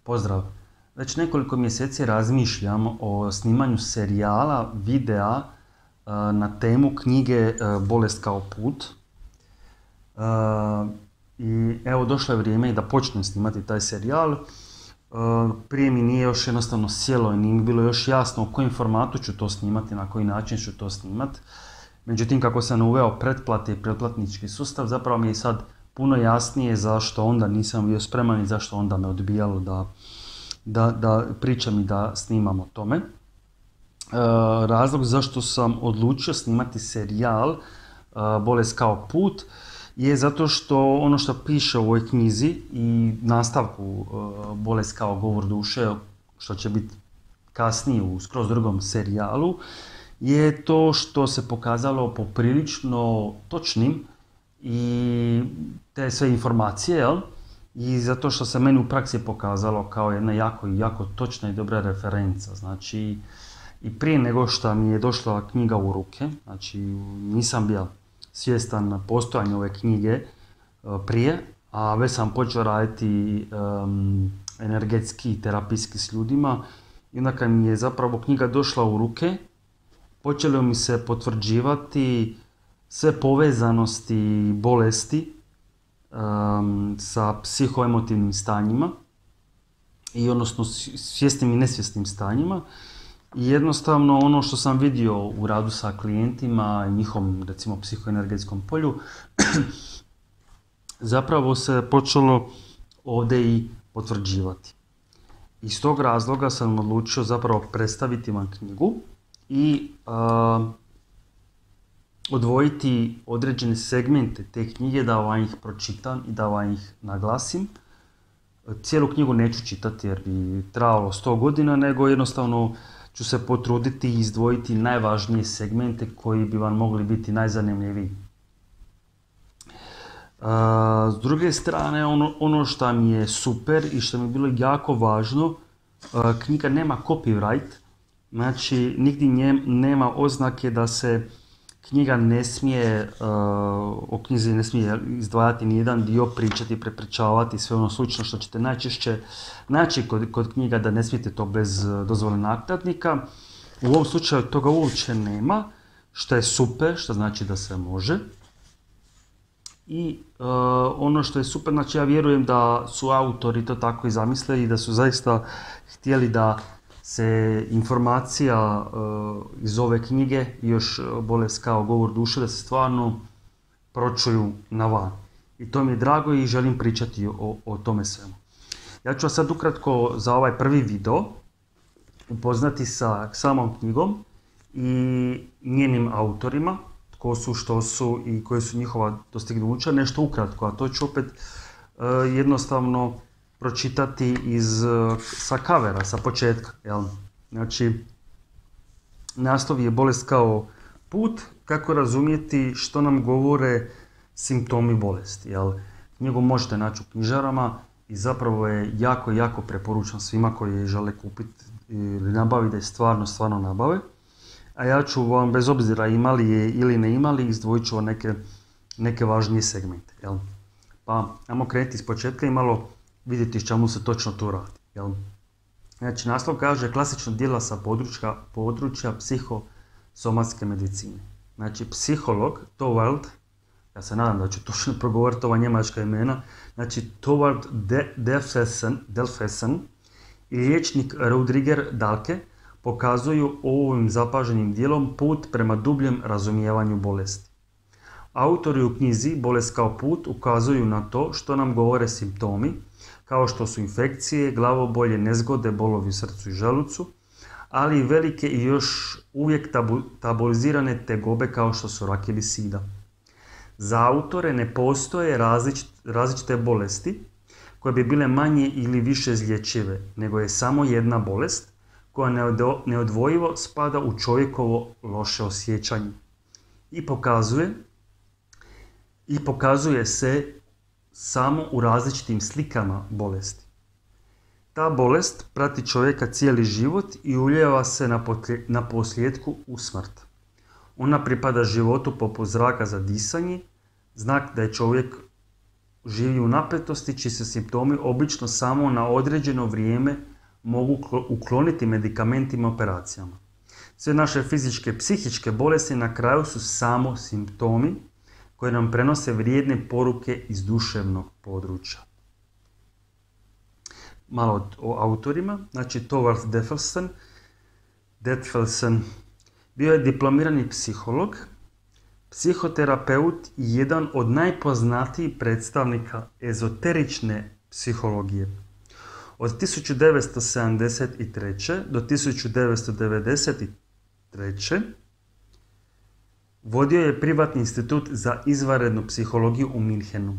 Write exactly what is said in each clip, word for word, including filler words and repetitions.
Pozdrav! Već nekoliko mjeseci razmišljam o snimanju serijala, videa na temu knjige Bolest kao put. I evo, došlo je vrijeme i da počnem snimati taj serijal. Prije mi nije još jednostavno sjelo i nije mi bilo još jasno u kojem formatu ću to snimati, na koji način ću to snimati. Međutim, kako sam uveo pretplate i pretplatnički sustav, zapravo mi je sad puno jasnije zašto onda nisam bio spreman i zašto onda me odbijalo da, da, da pričam i da snimam o tome. E, razlog zašto sam odlučio snimati serijal e, Bolest kao put je zato što ono što piše u ovoj knjizi i nastavku e, Bolest kao govor duše, što će biti kasnije u skroz drugom serijalu, je to što se pokazalo poprilično točnim i te sve informacije, jel? I zato što se meni u praksi pokazalo kao jedna jako, jako točna i dobra referenca. Znači, i prije nego što mi je došla knjiga u ruke, znači nisam bio svjestan postojanja ove knjige prije, a već sam počeo raditi um, energetski i terapijski s ljudima, i onda kad mi je zapravo knjiga došla u ruke, počelo mi se potvrđivati sve povezanosti bolesti um, sa psihoemotivnim stanjima, i odnosno svjesnim i nesvjesnim stanjima. I jednostavno ono što sam vidio u radu sa klijentima i njihovom, recimo, psihoenergetskom polju, zapravo se počelo ovdje i potvrđivati. Iz tog razloga sam odlučio zapravo predstaviti vam knjigu i uh, odvojiti određene segmente te knjige da vam ih pročitam i da vam ih naglasim. Cijelu knjigu neću čitati jer bi trajalo sto godina, nego jednostavno ću se potruditi i izdvojiti najvažnije segmente koji bi vam mogli biti najzanimljiviji. Uh, s druge strane, ono, ono što mi je super i što mi je bilo jako važno, uh, knjiga nema copyright. Znači, nigdje njem, nema oznake da se knjiga ne smije, uh, o knjizi ne smije izdvajati nijedan dio, pričati, prepričavati, sve ono slično što ćete najčešće naći kod, kod knjiga, da ne smijete to bez dozvole nakladnika. U ovom slučaju toga uopće nema, što je super, što znači da se može. I uh, ono što je super, znači ja vjerujem da su autori to tako i zamislili i da su zaista htjeli da se informacija uh, iz ove knjige i još Bolest kao govor duše, da se stvarno pročuju na van. I to mi je drago i želim pričati o, o tome svemu. Ja ću vas sad ukratko za ovaj prvi video upoznati sa samom knjigom i njenim autorima, tko su, što su i koje su njihova dostignuća, nešto ukratko, a to ću opet uh, jednostavno pročitati iz, sa kavera, sa početka. Jel? Znači, naslov je Bolest kao put, kako razumjeti što nam govore simptomi bolesti. Jel? Knjigu možete naći u knjižarama i zapravo je jako, jako preporučam svima koji je žele kupiti ili nabaviti, da je stvarno, stvarno nabave. A ja ću vam, bez obzira imali je ili ne imali, izdvojit ću neke, neke važnije segmente. Jel? Pa, ajmo krenuti iz početka i malo vidjeti s čemu se točno tu radi. Jel? Znači, naslov kaže klasična djela sa područja, područja psihosomatske medicine. Znači, psiholog Thorvald, ja se nadam da ću točno progovoriti ova njemačka imena, znači Thorvald Delfessen i liječnik Rudriger Dahlke pokazuju ovim zapaženim dijelom put prema dubljem razumijevanju bolesti. Autori u knjizi Bolest kao put ukazuju na to što nam govore simptomi, kao što su infekcije, glavobolje, nezgode, bolovi u srcu i želucu, ali i velike i još uvijek tabu, tabuizirane tegobe kao što su rak ili sida. Za autore ne postoje različit, različite bolesti koje bi bile manje ili više izlječive, nego je samo jedna bolest koja neodvojivo spada u čovjekovo loše osjećanje i pokazuje, i pokazuje se samo u različitim slikama bolesti. Ta bolest prati čovjeka cijeli život i ulijeva se na, potlje, na posljedku u smrt. Ona pripada životu poput zraka za disanje, znak da je čovjek živi u napetosti čiji se simptomi obično samo na određeno vrijeme mogu ukloniti medikamentima i operacijama. Sve naše fizičke i psihičke bolesti na kraju su samo simptomi koje nam prenose vrijedne poruke iz duševnog područja. Malo o autorima. Znači, Thorvald Deffelsen. Deffelsen bio je diplomirani psiholog, psihoterapeut i jedan od najpoznatijih predstavnika ezoterične psihologije. Od tisuću devetsto sedamdeset treće. do tisuću devetsto devedeset treće. vodio je privatni institut za izvanrednu psihologiju u Minhenu.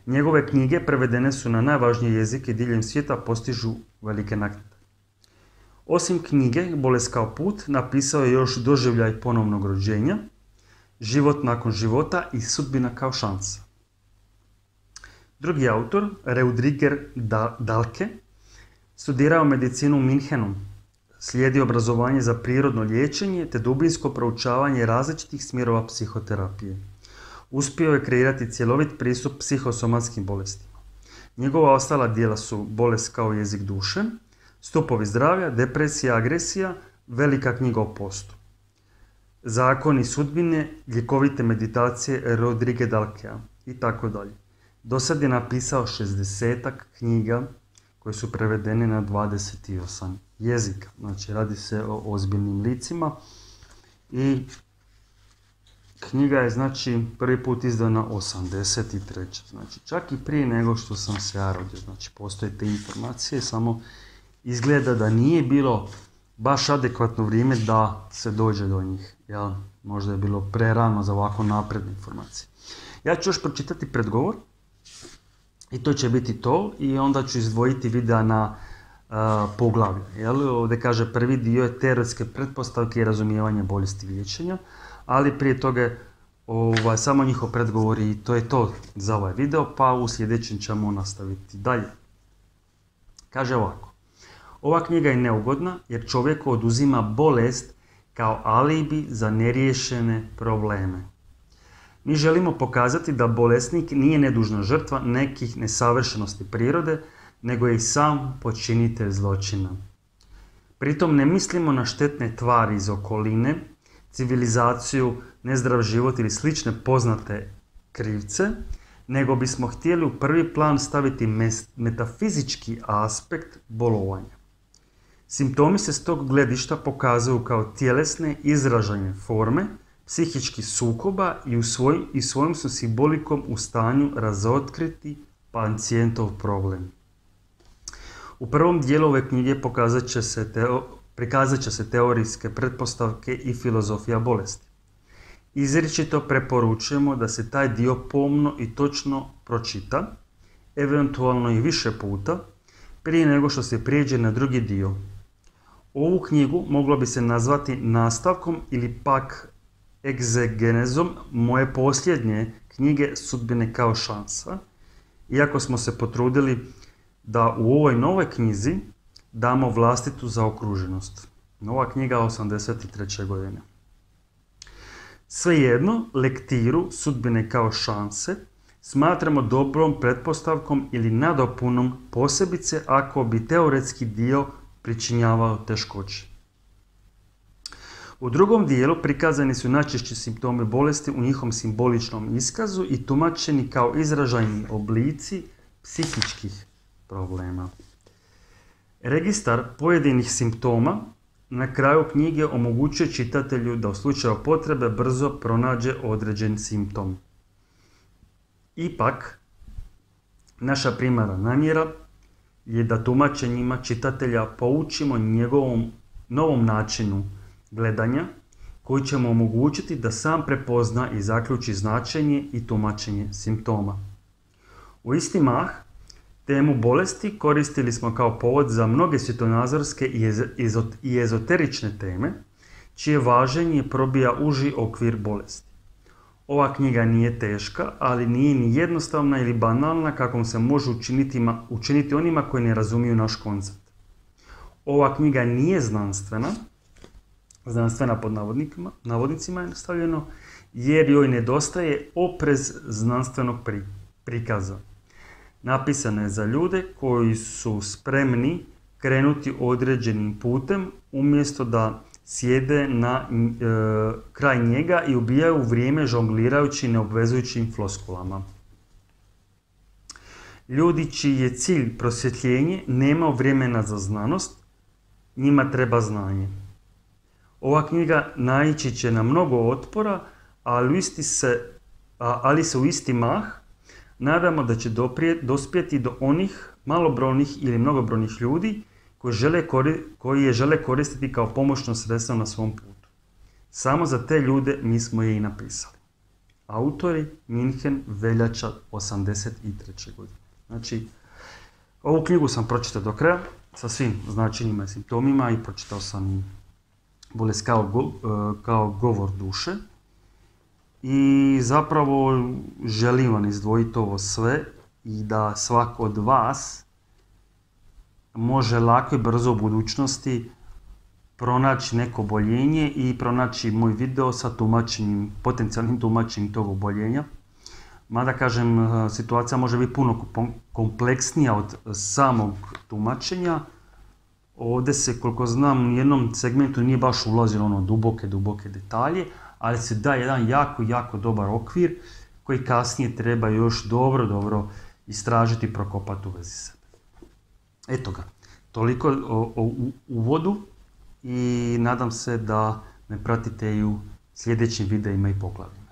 Njegove knjige prevedene su na najvažnije jezike diljem svijeta, postižu velike naknade. Osim knjige Bolest kao put, napisao je još Doživljaj ponovnog rođenja, Život nakon života i Sudbina kao šansa. Drugi autor, Reudiger Dahlke, studirao medicinu u Minhenu, slijedi obrazovanje za prirodno liječenje te dubinsko proučavanje različitih smjerova psihoterapije. Uspio je kreirati cjelovit pristup psihosomatskim bolestima. Njegova ostala djela su Bolest kao jezik duše, Stupovi zdravlja, Depresija, agresija, Velika knjiga o postu. Zakoni sudbine, ljekovite meditacije Rodrige Dahlkea i tako dalje. Do sad je napisao šezdesetak knjiga koje su prevedene na dvadeset osam jezika. Znači, radi se o ozbiljnim licima i knjiga je, znači, prvi put izdana osamdeset treće. Znači, čak i prije nego što sam se ja rodio. Znači, postoje te informacije, samo izgleda da nije bilo baš adekvatno vrijeme da se dođe do njih. Ja, možda je bilo prerano za ovako napredne informacije. Ja ću još pročitati predgovor i to će biti to i onda ću izdvojiti videa na uh, poglavlje. Jel? Ovdje kaže prvi dio je teoretske pretpostavke i razumijevanje bolesti i liječenja, ali prije toga je ovaj, samo njihov predgovor i to je to za ovaj video, pa u sljedećem ćemo nastaviti dalje. Kaže ovako. Ova knjiga je neugodna jer čovjeku oduzima bolest kao alibi za neriješene probleme. Mi želimo pokazati da bolesnik nije nedužna žrtva nekih nesavršenosti prirode, nego je i sam počinitelj zločina. Pritom ne mislimo na štetne tvari iz okoline, civilizaciju, nezdrav život ili slične poznate krivce, nego bismo htjeli u prvi plan staviti metafizički aspekt bolovanja. Simptomi se s tog gledišta pokazuju kao tjelesne izražajne forme psihičkih sukoba i, u svoj, i svojim su simbolikom u stanju razotkriti pacijentov problem. U prvom dijelu ove knjige pokazat će se teo, prikazat će se teorijske pretpostavke i filozofija bolesti. Izričito preporučujemo da se taj dio pomno i točno pročita, eventualno i više puta, prije nego što se prijeđe na drugi dio. Ovu knjigu moglo bi se nazvati nastavkom ili pak egzegenezom moje posljednje knjige Sudbine kao šansa, iako smo se potrudili da u ovoj novoj knjizi damo vlastitu zaokruženost. Nova knjiga osamdeset treće godine. Svejedno, lektiru Sudbine kao šanse smatramo dobrom pretpostavkom ili nadopunom, posebice ako bi teoretski dio pričinjavao teškoće. U drugom dijelu prikazani su najčešći simptomi bolesti u njihovom simboličnom iskazu i tumačeni kao izražajni oblici psihičkih problema. Registar pojedinih simptoma na kraju knjige omogućuje čitatelju da u slučaju potrebe brzo pronađe određen simptom. Ipak, naša primarna namjera je da tumačenjima čitatelja poučimo njegovom novom načinu gledanja koji će mu omogućiti da sam prepozna i zaključi značenje i tumačenje simptoma. U isti mah, temu bolesti koristili smo kao povod za mnoge svjetonazorske i ezoterične teme, čije važenje probija uži okvir bolesti. Ova knjiga nije teška, ali nije ni jednostavna ili banalna kakvom se može učiniti, učiniti onima koji ne razumiju naš koncept. Ova knjiga nije znanstvena, znanstvena pod navodnicima je stavljeno, jer joj nedostaje oprez znanstvenog prikaza. Napisana je za ljude koji su spremni krenuti određenim putem umjesto da sjede na e, kraj njega i ubijaju vrijeme žonglirajući neobvezujućim floskulama. Ljudi čiji je cilj prosvjetljenje nema vremena za znanost, njima treba znanje. Ova knjiga naići će na mnogo otpora, ali, isti se, ali se u isti mah nadamo da će doprijet, dospjeti do onih malobrojnih ili mnogobrojnih ljudi koji, žele, koji je žele koristiti kao pomoćno sredstvo na svom putu. Samo za te ljude mi smo je i napisali. Autori München, veljača osamdeset treće godine. Znači, ovu knjigu sam pročitao do kraja sa svim značenjima i simptomima i pročitao sam bolest kao, go, kao govor duše. I zapravo želim vam izdvojiti ovo sve i da svako od vas može lako i brzo u budućnosti pronaći neko oboljenje i pronaći moj video sa tumačenjem, potencijalnim tumačenjem tog oboljenja. Mada kažem, situacija može biti puno kompleksnija od samog tumačenja. Ovdje se, koliko znam, u jednom segmentu nije baš ulazilo ono duboke, duboke detalje, ali se da jedan jako, jako dobar okvir koji kasnije treba još dobro, dobro istražiti i prokopati u vezi sebe. Eto ga, toliko o, o uvodu i nadam se da me pratite i u sljedećim videima i poglavljima.